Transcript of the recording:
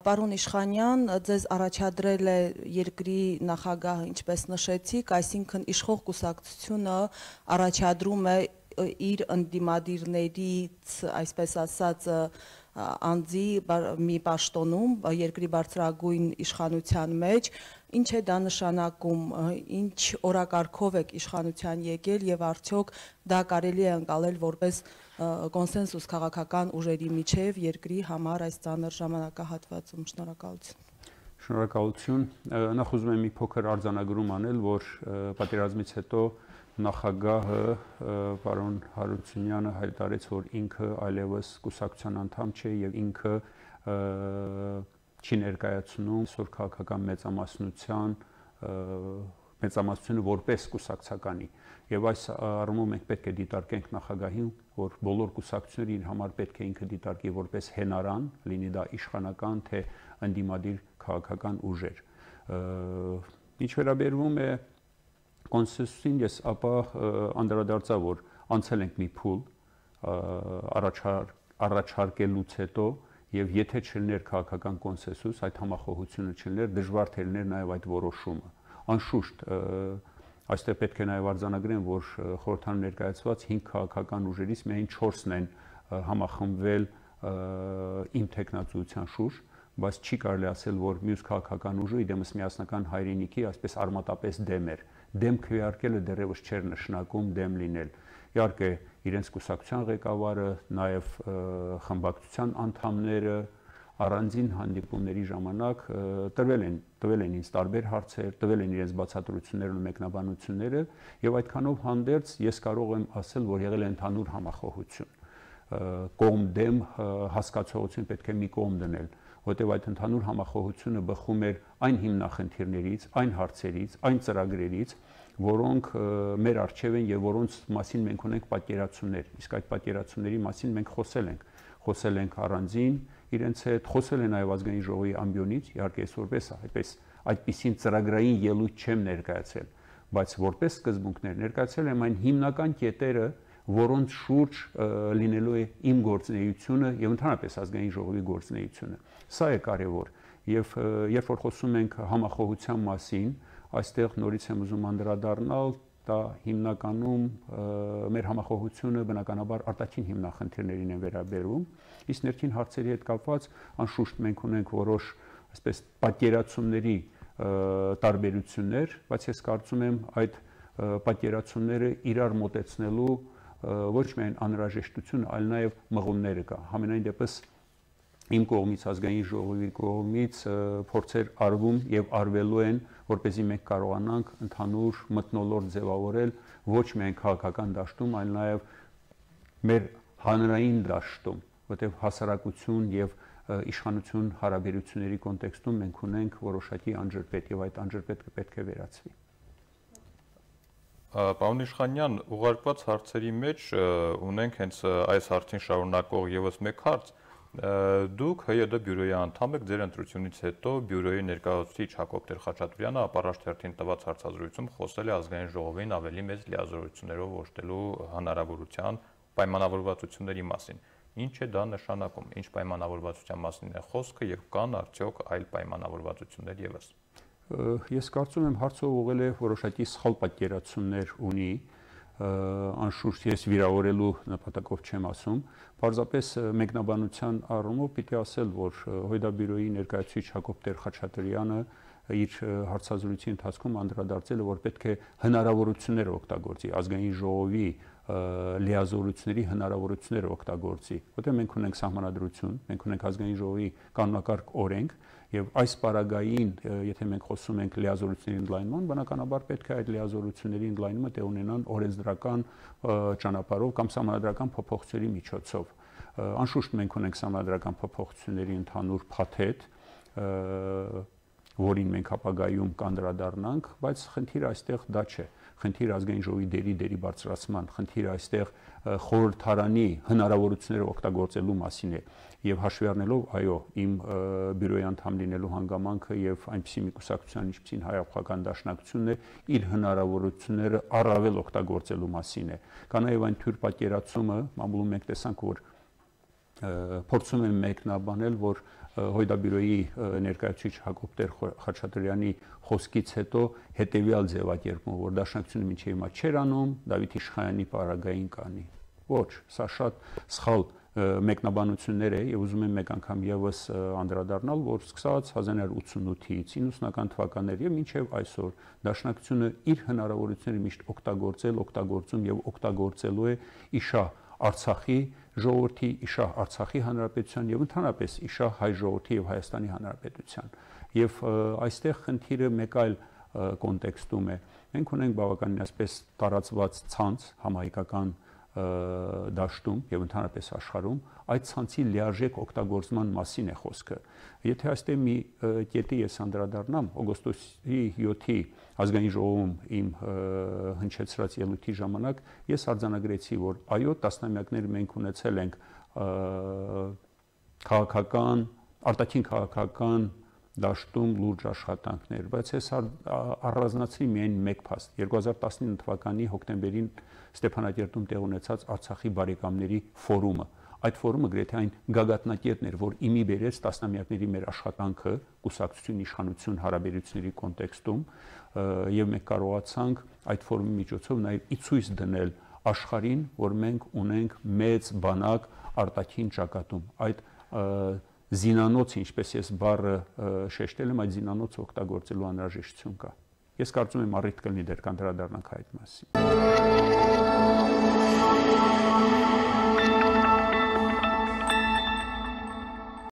Պարոն Իշխանյան, ձեզ առաջադրել է երկրի նախագահը, ինչպես նշեցիք, այսինքն իշխող կուսակցությունը առաջադրում է իր ընդդիմադիրներից, այսպես ասած, անձի մի պաշտոնում երկրի բարձրագույն իշխանության մեջ, ինչ է դա նշանակում, ինչ օրակարգով եք իշխանության եկել եւ արդյոք դա կարելի է ընկալել որպես կոնսենսուս քաղաքական ուժերի միջև երկրի համար այս ծանր ժամանակահատվածում։ Շնորհակալություն։ Շնորհակալություն։ Նախ ուզում եմ մի փոքր արձանագրում անել, որ պատերազմից հետո նախագահը պարոն Հարությունյանը հայտարարեց, որ ինքը այլևս կուսակցության անդամ չէ եւ ինքը չի ներկայացնում այսօր քաղաքական մեծամասնությունը որպես կուսակցականի եւ այս առումով մենք պետք է դիտարկենք նախագահին, որ բոլոր կուսակցությունները իր համար պետք է ինքը դիտարկի որպես հենարան, լինի դա իշխանական թե ընդդիմադիր քաղաքական ուժեր։ Ինչ վերաբերվում է կոնսենսուսին, ես ապա անդրադարձա, որ անցել ենք մի փուլ առաջարկելուց հետո եւ եթե չլիներ քաղաքական կոնսենսուս, այդ համախոհությունը չլիներ, դժվար թե լիներ նաեւ այդ որոշումը։ Անշուշտ այստեղ պետք է նաեւ արձանագրեմ, որ խորհրդարան ներկայացված 5 քաղաքական ուժերից միայն 4-ն են համախմբվել իմ թեկնածուության շուրջ, բայց չի կարելի ասել, որ մյուս քաղաքական ուժը իդեմս միասնական հայրենիքի այսպես արմատապես դեմ էր։ Դեմ քվեարկելը դեռևս չէր նշանակում դեմ լինել։ Իհարկե, իրենց կուսակցության ղեկավարը, նաև խմբակցության անդամները առանձին հանդիպումների ժամանակ տվել են ինձ տարբեր հարցեր, տվել են իրենց բացատրություններն ու մեկնաբանությունները, եւ այդքանով հանդերձ ես կարող եմ ասել, որ եղել է ընդհանուր համախոհություն։ Կողմ-դեմ հասկացողություն պետք է մի կողմ դնել, որտեղ այդ ընդհանուր համախոհությունը բխում էր այն հիմնախնդիրներից, այն հարցերից, այն ծրագրերից, որոնք մեր առջև են եւ որոնց մասին մենք ունենք պատկերացումներ, իսկ այդ պատկերացումների մասին մենք խոսել ենք առանձին իրենց հետ, խոսել են նաեւ ազգային ժողովի ամբիոնից, իհարկե ես որպես այդպիսին ծրագրային ելույթ չեմ ներկայացել, բայց որպես սկզբունքներ ներկայացել եմ այն հիմնական կետերը, որոնց շուրջ լինելու է իմ գործունեությունը եւ ընդհանրապես ազգային ժողովի գործունեությունը։ Սա է կարեւոր եւ երբ որ խոսում ենք համախոհության մասին, այստեղ նորից եմ ուզում անդրադառնալ, դա հիմնականում մեր համախոհությունը բնականաբար արտաքին հիմնախնդիրներին է վերաբերում, իսկ ներքին հարցերի հետ կապված անշուշտ մենք ունենք որոշ այսպես պատկերացումների տարբերություններ, բայց ես կարծում եմ այդ պատկերացումները իրար մոտեցնելու ոչ միայն անհրաժեշտություն, այլ նաև մղումները կա։ Համենայն դեպս իմ կողմից, ազգային ժողովի կողմից փորձեր արվում եւ արվելու են, որպեսզի մենք կարողանանք ընդհանուր մթնոլորտ ձևավորել ոչ միայն քաղաքական դաշտում, այլ նաեւ մեր հանրային դաշտում, որտեղ հասարակություն եւ իշխանություն հարաբերությունների կոնտեքստում մենք ունենք որոշակի անջրպետ եւ այդ անջրպետը պետք է վերացվի։ Պարոն Իշխանյան, ուղարկված հարցերի մեջ ունենք հենց այս հարցին շարունակող եւս մեկ հարց։ Դուք ՀՅԴ բյուրոյի անդամ եք, ձեր ընտրությունից հետո բյուրոյի ներկայացուցիչ Հակոբ Տեր-Խաչատրյանը ապառաշ թերթին տված հարցազրույցում խոսել է ազգային ժողովին ավելի մեծ լիազորություններով ողջելու հնարավորության պայմանավորվածությունների մասին։ Ինչ է դա նշանակում, ինչ պայմանավորվածության մասին է խոսքը եւ կան արդյոք այլ պայմանավորվածություններ եւս։ Ես կարծում եմ հարցը ուղղել է որոշակի սխալ պատկերացումներ ունի, անշուշտ ես վիրավորելու նպատակով չեմ ասում, պարզապես մեկնաբանության առումով պիտի ասել, որ ՀՅԴ բյուրոյի ներկայացուցիչ Հակոբ Տեր-Խաչատրյանը իր հարցազրույցի ընթացքում անդրադարձել է, որ պետք է հնարավորություններ օգտագործի, ազգային ժողովի լիազորությունների հնարավորություններ օգտագործի, որտեղ մենք ունենք սահմանադրություն, մենք ունենք ազգային ժողովի կանոնակարգ օրենք եւ այս պարագային, եթե մենք խոսում ենք լիազորությունների ընդլայնման, բնականաբար պետք է այդ լիազորությունների ընդլայնումը տեղ ունենան օրենսդրական ճանապարհով կամ սահմանադրական փոփոխությունների միջոցով։ Անշուշտ մենք ունենք սահմանադրական փոփոխությունների ընդհանուր փաթեթ, որին մենք ապագայում կանդրադառնանք, բայց խնդիրը այստեղ դա չէ։ Խնդիրը ազգային ժողովի դերի բարձրացման, խնդիրը այստեղ խորհրդարանի հնարավորությունները օգտագործելու մասին է եւ հաշվի առնելով, այո, իմ բյուրոյի անդամ լինելու հանգամանքը եւ այնպիսի մի կուսակցության, ինչպիսին Հայ-Აფղական դաշնակցությունն է, իր հնարավորությունները առավել օգտագործելու մասին է։ Կա նաեւ այն թյուր պատկերացումը, մամուլում մենք տեսանք, որ փորձում են մեկնաբանել, որ Հույդաբյուրոյի ներկայացուցիչ Հակոբ Խաչատրյանի խոսքից հետո հետևյալ ձևակերպում, որ Դաշնակցությունը մինչև հիմա չէր անում, Դավիթ Իշխանյանի պարագային կանի։ Ոչ, սա շատ սխալ մեկնաբանություններ է եւ ուզում եմ մեկ անգամ եւս անդրադառնալ, որ սկսած 1988-ից 90-ական թվականներ եւ մինչեւ այսօր Դաշնակցությունը իր հնարավորությունները միշտ օգտագործում եւ օգտագործելու է իշահ Արցախի ժողովրդի, իշահ Արցախի հանրապետության եւ ընդհանրապես իշահ հայ ժողովրդի եւ Հայաստանի հանրապետության։ Եվ այստեղ խնդիրը մեկ այլ կոնտեքստում է։ Մենք ունենք բավականին այսպես տարածված ցանց համահայկական դաշտում եւ ընդհանրապես աշխարհում այդ ցանցի լիարժեք օգտագործման մասին է խոսքը։ Եթե այստեղ մի կետի ես անդրադառնամ, օգոստոսի 7-ի ազգային ժողովում իմ հնչեցրած ելույթի ժամանակ ես արձանագրեցի, որ այո, տասնամյակներ մենք ունեցել ենք քաղաքական, արտաքին քաղաքական դաշտում լուրջ աշխատանքներ, բայց ես առանձնացրի միայն մեկ փաստ 2019 թվականի հոկտեմբերին Ստեփանակերտում տեղ ունեցած Արցախի բարեկամների ֆորումը։ Այդ ֆորումը գրեթե այն գագաթնակետն էր, որ իմի բերեց տասնամյակների մեր աշխատանքը կուսակցություն, իշխանություն հարաբերությունների կոնտեքստում, եւ մենք կարողացանք այդ ֆորումի միջոցով նաեւ ի ցույց դնել աշխարհին, որ մենք ունենք մեծ բանակ արտաքին ճակատում։ Այդ զինանոցը, ինչպես ես բառը շեշտել եմ, այդ զինանոցը օգտագործելու անհրաժեշտություն կա։ Ես կարծում եմ առիթ կլինի դեռ կանդրադառնանք այդ մասին։